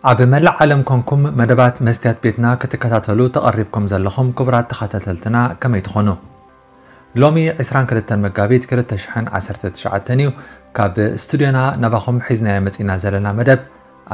ኣብ መላእ ዓለም ኮንኩም መደባት መስትያት ቤትና ክትከታተሉ ተቐሪብኩም ዘለኹም ክቡራት ተኸታተልትና ከመይ ትኾኑ? ሎሚ ዕስራን ክልተን መጋቢት ክልተ ሽሕን ዓሰርተ ትሽዓተን እዩ። ካብ ስቱድዮና ናባኹም ሒዝናዮ መጺና ዘለና መደብ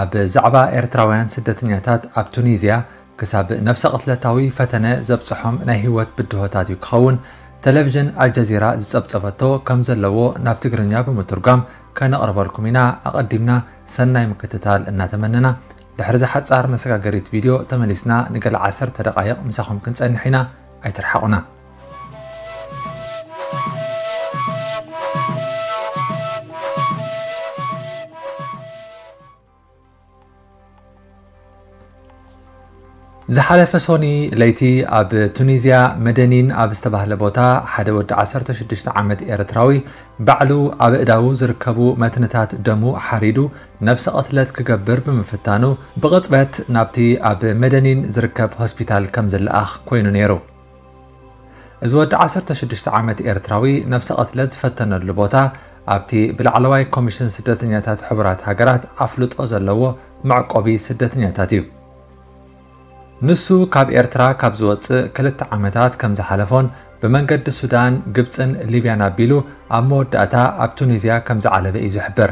ኣብ ዛዕባ ኤርትራውያን ስደተኛታት ኣብ ቱኒዝያ ክሳብ ነብሰ ቅትለታዊ ፈተነ ዘብጽሖም ናይ ህይወት ብድሆታት እዩ ክኸውን ቴሌቪዥን ኣልጀዚራ ዝጸብጸበቶ ከም ዘለዎ ናብ ትግርኛ ብምትርጓም ከነቕርበልኩም ኢና። ኣቐዲምና ሰናይ ምክትታል እናተመነና፣ ድሕሪ እዛ ሓጻር መሰጋገሪት ቪድዮ ተመሊስና ንገለ ዓሰርተ ደቓይቕ ምሳኹም ክንጸንሕ ኢና። ኣይትርሓቑና። ዝሓለፈ ሶኒ ለይቲ ኣብ ቱኒዝያ መደኒን ኣብ ዝተባህለ ቦታ ሓደ ወዲ ዓሰርተ ሽዱሽተ ዓመት ኤርትራዊ ባዕሉ ኣብ እዳዉ ዝርከቡ መትንታት ደሙ ሓሪዱ ነብሰ ቅትለት ክገብር ብምፍታኑ ብቕጽበት ናብቲ ኣብ መደኒን ዝርከብ ሆስፒታል ከም ዝለኣኽ ኮይኑ ነይሩ። እዚ ወዲ ዓሰርተ ሽዱሽተ ዓመት ኤርትራዊ ነብሰ ቅትለት ዝፈተነሉ ቦታ ኣብቲ ብላዕለዋይ ኮሚሽን ስደተኛታት ሕቡራት ሃገራት ኣፍልጦ ዘለዎ መዕቆቢ ስደተኛታት እዩ። ንሱ ካብ ኤርትራ ካብ ዝወጽእ ክልተ ዓመታት ከም ዝሓለፎን ብመንገዲ ሱዳን፣ ግብጽን ሊብያን ኣቢሉ ኣብ መወዳእታ ኣብ ቱኒዝያ ከም ዝዓለበ እዩ ዝሕብር።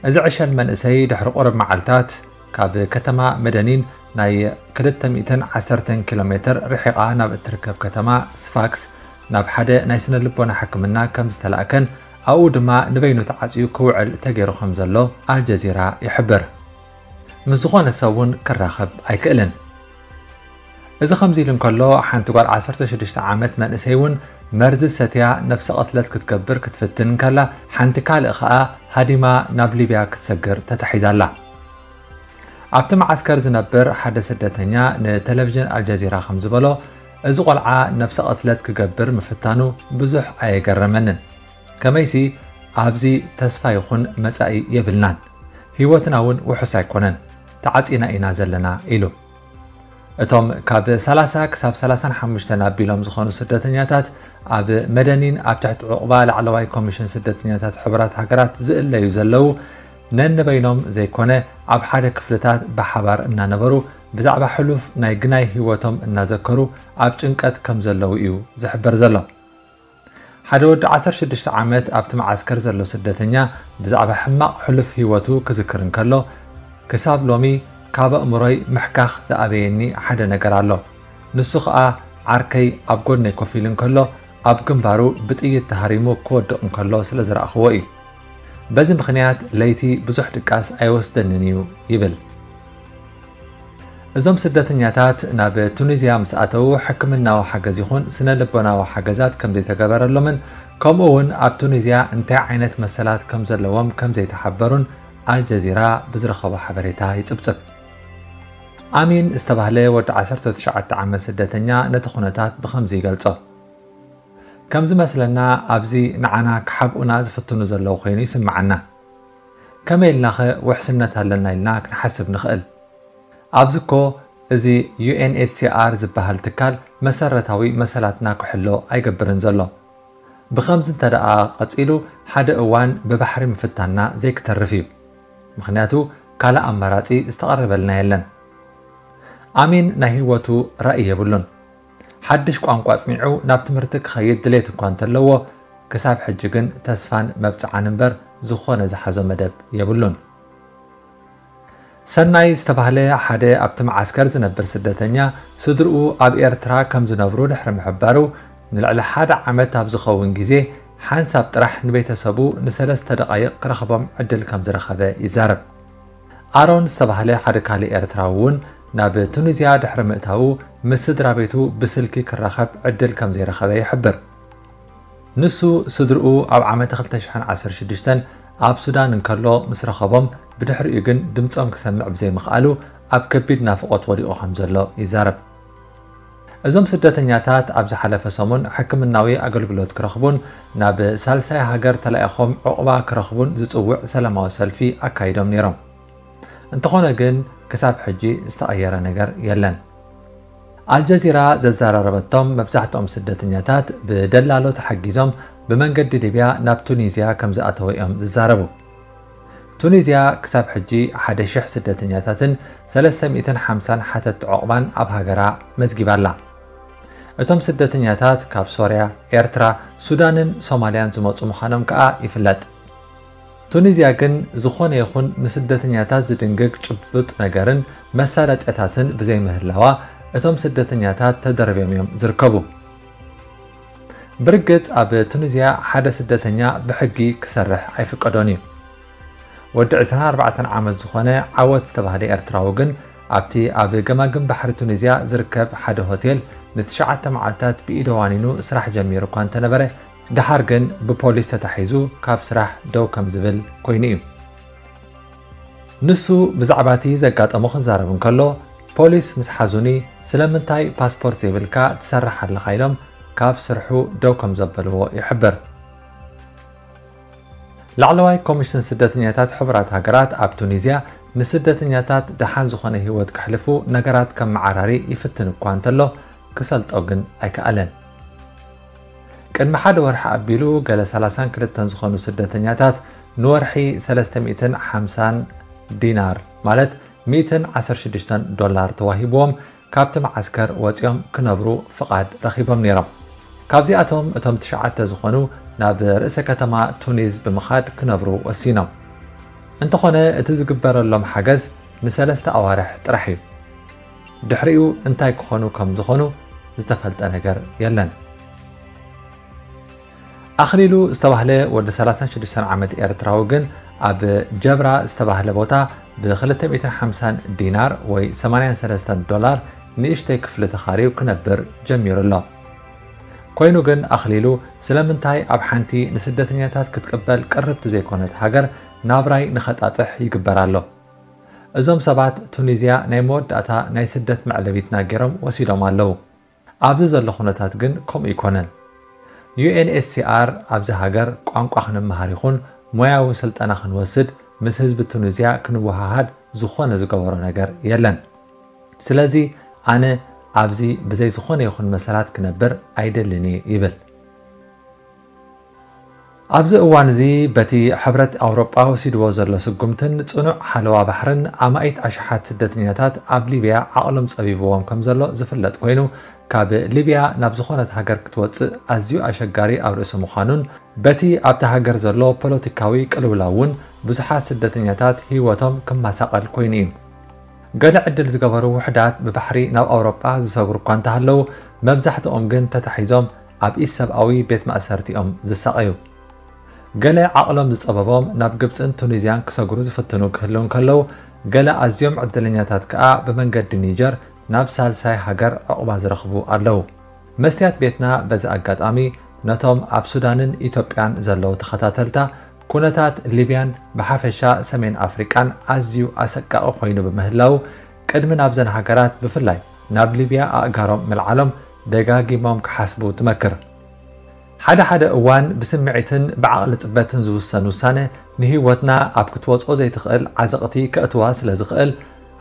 እዚ ዕሸል መንእሰይ ድሕሪ ቁሩብ መዓልታት ካብ ከተማ መደኒን ናይ ክልተ ሚእትን ዓሰርተን ኪሎ ሜትር ርሒቓ ናብ እትርከብ ከተማ ስፋክስ ናብ ሓደ ናይ ስነ ልቦና ሕክምና ከም ዝተላእከን ኣብኡ ድማ ንበይኑ ተዓጽዩ ክውዕል ተገይሩ ከም ዘሎ ኣልጀዚራ ይሕብር። ምስ ዝኾነ ሰብ እውን ክራኸብ ኣይክእልን። እዚ ከምዚ ኢሉ እንከሎ ሓንቲ ጓል ዓሰርተ ሽዱሽተ ዓመት መንእሰይ እውን መርዚ ሰትያ ነብሰ ቅትለት ክትገብር ክትፍትን እንከላ ሓንቲ ካልእ ኸኣ ሃዲማ ናብ ሊብያ ክትሰግር ተታሒዛ ኣላ። ኣብቲ መዓስከር ዝነብር ሓደ ስደተኛ ንቴሌቪዥን ኣልጀዚራ ከም ዝበሎ፣ እዚ ቆልዓ ነብሰ ቅትለት ክገብር ምፍታኑ ብዙሕ ኣየገረመንን። ከመይሲ ኣብዚ ተስፋ ይኹን መጻኢ የብልናን፣ ህይወትና እውን ውሑስ ኣይኮነን፣ ተዓጺና ኢና ዘለና ኢሉ። እቶም ካብ ሰላሳ ክሳብ ሰላሳን ሓሙሽተን ኣቢሎም ዝኾኑ ስደተኛታት ኣብ መደኒን ኣብ ትሕቲ ዕቑባ ላዕለዋይ ኮሚሽን ስደተኛታት ሕቡራት ሃገራት ዝእለዩ ዘለዉ ነንበይኖም ዘይኮነ ኣብ ሓደ ክፍልታት ብሓባር እናነበሩ ብዛዕባ ሕሉፍ ናይ ግናይ ህይወቶም እናዘከሩ ኣብ ጭንቀት ከም ዘለዉ እዩ ዝሕበር ዘሎ። ሓደ ወዲ ዓሰርተ ሽዱሽተ ዓመት ኣብቲ መዓስከር ዘሎ ስደተኛ ብዛዕባ ሕማቕ ሕሉፍ ህይወቱ ክዝክር እንከሎ፣ ክሳብ ሎሚ ካብ ኣእምሮይ ምሕካኽ ዝኣበየኒ ሓደ ነገር ኣሎ። ንሱ ኸኣ ዓርከይ ኣብ ጎድነይ ኮፍ ኢሉ እንከሎ ኣብ ግንባሩ ብጥይት ተሃሪሙ ክወድቕ እንከሎ ስለ ዝረኣኽዎ እዩ። በዚ ምኽንያት ለይቲ ብዙሕ ድቃስ ኣይወስደንን እዩ ይብል። እዞም ስደተኛታት ናብ ቱኒዝያ ምስ ኣተዉ ሕክምናዊ ሓገዝ ይኹን ስነ ልቦናዊ ሓገዛት ከም ዘይተገበረሎምን ከምኡ እውን ኣብ ቱኒዝያ እንታይ ዓይነት መሰላት ከም ዘለዎም ከም ዘይተሓበሩን ኣልጀዚራ ብዝረኸቦ ሓበሬታ ይጽብጽብ። ኣሚን ዝተባህለ ወዲ ዓሰርተ ትሽዓተ ዓመት ስደተኛ ነቲ ኩነታት ብኸምዚ ይገልጾ። ከም ዝመስለና ኣብዚ ንዓና ክሓብኡና ዝፍትኑ ዘለዉ ኮይኑ ይስምዓና። ከመይ ኢልናኸ ውሕስነት ኣለና ኢልና ክንሓስብ ንኽእል? ኣብዚ እኮ እዚ ዩ ኤን ኤች ሲ ኣር ዝበሃል ትካል መሰረታዊ መሰላትና ክሕሎ ኣይገብርን ዘሎ። ብኸምዚ እንተ ደኣ ቀጺሉ ሓደ እዋን ብባሕሪ ምፍታንና ዘይክተርፍ እዩ። ምኽንያቱ ካልእ ኣማራጺ ዝተቐረበልና የለን። ኣሚን ናይ ህይወቱ ራእይ የብሉን። ሓድሽ ቋንቋ ኣጽኒዑ ናብ ትምህርቲ ክኸይድ ድሌት እኳ እንተለዎ፣ ክሳብ ሕጂ ግን ተስፋን መብጽዓን እምበር ዝኾነ ዝሓዞ መደብ የብሉን። ሰናይ ዝተባህለ ሓደ ኣብቲ መዓስከር ዝነብር ስደተኛ፣ ስድርኡ ኣብ ኤርትራ ከም ዝነብሩ ድሕሪ ምሕባሩ፣ ንልዕሊ ሓደ ዓመት ኣብ ዝኸውን ግዜ ሓንሳብ ጥራሕ ንቤተሰቡ ንሰለስተ ደቓይቕ ክረኽቦም ዕድል ከም ዝረኸበ ይዛረብ። ኣሮን ዝተባህለ ሓደ ካልእ ኤርትራዊ እውን ናብ ቱኒዝያ ድሕሪ ምእታዉ ምስ ስድራ ቤቱ ብስልኪ ክራኸብ ዕድል ከም ዘይረኸበ ይሕብር። ንሱ ስድርኡ ኣብ ዓመተ ክልተ ሽሕን ዓሰርተ ሽዱሽተን ኣብ ሱዳን እንከሎ ምስ ረኸቦም፣ ብድሕሪኡ ግን ድምጾም ክሰምዕ ብዘይምኽኣሉ ኣብ ከቢድ ናፍቖት ወዲቑ ከም ዘሎ ይዛረብ። እዞም ስደተኛታት ኣብ ዝሓለፈ ሰሙን ሕክምናዊ ኣገልግሎት ክረኽቡን ናብ ሳልሳይ ሃገር ተላኢኾም ዑቕባ ክረኽቡን ዝጽውዕ ሰላማዊ ሰልፊ ኣካይዶም ነይሮም። እንተኾነ ግን ክሳብ ሕጂ ዝተቐየረ ነገር የለን። ኣልጀዚራ ዘዘራረበቶም መብዛሕትኦም ስደተኛታት ብደላሎ ተሓጊዞም ብመንገዲ ሊብያ ናብ ቱኒዝያ ከም ዝኣተወ እዮም ዝዛረቡ። ቱኒዝያ ክሳብ ሕጂ ሓደ ሽሕ ስደተኛታትን ሰለስተ ሚእትን ሓምሳን ሓተትቲ ዑቕባን ኣብ ሃገራ መዝጊባ ኣላ። እቶም ስደተኛታት ካብ ሶርያ፣ ኤርትራ፣ ሱዳንን ሶማልያን ዝመጹ ምዃኖም ከኣ ይፍለጥ። ቱኒዝያ ግን ዝኾነ ይኹን ንስደተኛታት ዝድንግግ ጭቡጥ ነገርን መሳለጥያታትን ብዘይምህላዋ፣ እቶም ስደተኛታት ተደርብዮም እዮም ዝርከቡ። ብርግጽ ኣብ ቱኒዝያ ሓደ ስደተኛ ብሕጊ ክሰርሕ ኣይፍቀዶን እዩ። ወዲ ዕስራን ኣርባዕተን ዓመት ዝኾነ ዓወት ዝተባህለ ኤርትራዊ ግን ኣብቲ ኣብ ገማግም ባሕሪ ቱኒዝያ ዝርከብ ሓደ ሆቴል ንትሽዓተ መዓልታት ብኢደ ዋኒኑ ስራሕ ጀሚሩ እኳ እንተነበረ፣ ደሓር ግን ብፖሊስ ተታሒዙ ካብ ስራሕ ደው ከም ዝብል ኮይኑ እዩ። ንሱ ብዛዕባ እቲ ዘጋጠሞ ክዛረብ እንከሎ፣ ፖሊስ ምስ ሓዙኒ፣ "ስለምንታይ ፓስፖርት ዘይብልካ ትሰርሕ ኣለኻ?" ኢሎም ካብ ስርሑ ደው ከም ዘበልዎ ይሕብር። ላዕለዋይ ኮሚሽን ስደተኛታት ሕቡራት ሃገራት ኣብ ቱኒዝያ ንስደተኛታት ደሓን ዝኾነ ህይወት ከሕልፉ ነገራት ከመዓራሪ ይፍትን እኳ እንተሎ፣ ክሰልጦ ግን ኣይከኣለን። ቅድሚ ሓደ ወርሒ ኣቢሉ፣ ገለ ሰላሳን ክልተን ዝኾኑ ስደተኛታት ንወርሒ ሰለስተ ሚእትን ሓምሳን ዲናር፣ ማለት ሚእትን ዓሰርተ ሽዱሽተን ዶላር ተዋሂብዎም፣ ካብቲ መዓስከር ወጺኦም ክነብሩ ፍቓድ ረኺቦም ነይሮም። ካብዚኣቶም እቶም ትሽዓተ ዝኾኑ ናብ ርእሰ ከተማ ቱኒዝ ብምኻድ ክነብሩ ወሲኖም። እንተኾነ፣ እቲ ዝግበረሎም ሓገዝ ንሰለስተ ኣዋርሕ ጥራሕ እዩ። ድሕሪኡ እንታይ ክኾኑ ከም ዝኾኑ ዝተፈልጠ ነገር የለን። ኣኽሊሉ ዝተባህለ ወዲ ሰላሳን ሽዱሽተን ዓመት ኤርትራዊ ግን ኣብ ጀብራ ዝተባህለ ቦታ ብ ክልተ ሚእትን ሓምሳን ዲናር ወይ ሰማንያን ሰለስተን ዶላር ንእሽተይ ክፍሊ ተኻርዩ ክነብር ጀሚሩ ኣሎ። ኮይኑ ግን ኣኽሊሉ ስለምንታይ ኣብ ሓንቲ ንስደተኛታት ክትቅበል ቅርብቲ ዘይኮነት ሃገር ናብራይ ንኸጣጥሕ ይግበር ኣሎ? እዞም ሰባት ቱኒዝያ ናይ መወዳእታ ናይ ስደት መዕለቢትና ገይሮም ወሲዶም ኣለዉ። ኣብዚ ዘሎ ኩነታት ግን ከምኡ ኣይኮነን። ዩ ኤን ኤች ሲ ኣር ኣብዚ ሃገር ቋንቋ ክንመሃር ይኹን ሞያዊ ስልጠና ክንወስድ ምስ ህዝቢ ቱኒዝያ ክንወሃሃድ ዝኾነ ዝገበሮ ነገር የለን። ስለዚ ኣነ ኣብዚ ብዘይ ዝኾነ ይኹን መሰላት ክነብር ኣይደልን እየ ይብል። ኣብዚ እዋን እዚ በቲ ሕብረት ኣውሮጳ ወሲድዎ ዘሎ ስጉምትን ጽኑዕ ሓለዋ ባሕርን ኣማኢት ኣሽሓት ስደተኛታት ኣብ ሊብያ ዓቕሎም ጸቢብዎም ከም ዘሎ ዝፍለጥ ኮይኑ፣ ካብ ሊብያ ናብ ዝኾነት ሃገር ክትወጽእ ኣዝዩ ኣሸጋሪ ኣብ ርእሲ ምዃኑን፣ በቲ ኣብታ ሃገር ዘሎ ፖለቲካዊ ቅልውላው እውን ብዙሓት ስደተኛታት ህይወቶም ክመሳቐል ኮይኑ እዩ። ገለ ዕድል ዝገበሩ ውሑዳት ብባሕሪ ናብ ኣውሮጳ ዝሰግሩ እኳ እንተሃለዉ፣ መብዛሕትኦም ግን ተታሒዞም ኣብ ኢሰብኣዊ ቤት ማእሰርቲ እዮም ዝሳቐዩ። ገለ ዓቕሎም ዝጸበቦም ናብ ግብጽን ቱኒዝያን ክሰግሩ ዝፍትኑ ክህልዉ እንከለዉ፣ ገለ ኣዝዮም ዕድለኛታት ከኣ ብመንገዲ ኒጀር ናብ ሳልሳይ ሃገር ዕቑባ ዝረኽቡ ኣለዉ። መስትያት ቤትና በዚ ኣጋጣሚ ነቶም ኣብ ሱዳንን ኢትዮጵያን ዘለዉ ተኸታተልታ፣ ኩነታት ሊብያን ብሓፈሻ ሰሜን ኣፍሪቃን ኣዝዩ ኣሰቃቒ ኮይኑ ብምህላዉ፣ ቅድሚ ናብዘን ሃገራት ብፍላይ ናብ ሊብያ ኣእጋሮም ምልዓሎም ደጋጊሞም ክሓስቡ ትመክር። ሓደ ሓደ እዋን ብስምዒትን ብዓቕሊ ጽበትን ዝውሰን ውሳነ ንህይወትና ኣብ ክትወጽኦ ዘይትኽእል ዓዘቕቲ ከእትዋ ስለ ዝኽእል፣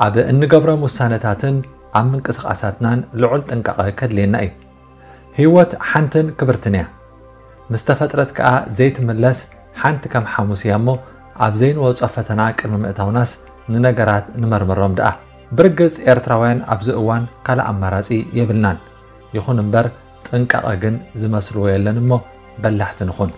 ኣብ እንገብሮም ውሳነታትን ኣብ ምንቅስቓሳትናን ልዑል ጥንቃቐ ከድልየና እዩ። ህይወት ሓንትን ክብርትን እያ። ምስ ተፈጥረት ከኣ ዘይትምለስ ሓንቲ ከም ሓሙስ እያ እሞ፣ ኣብ ዘይንወጾ ፈተና ቅድሚ ምእታውናስ ንነገራት ንመርምሮም ደኣ። ብርግጽ ኤርትራውያን ኣብዚ እዋን ካልእ ኣማራጺ የብልናን። ይኹን እምበር ጥንቃቐ ግን ዝመስልዎ የለን እሞ በላሕቲ ንኹን።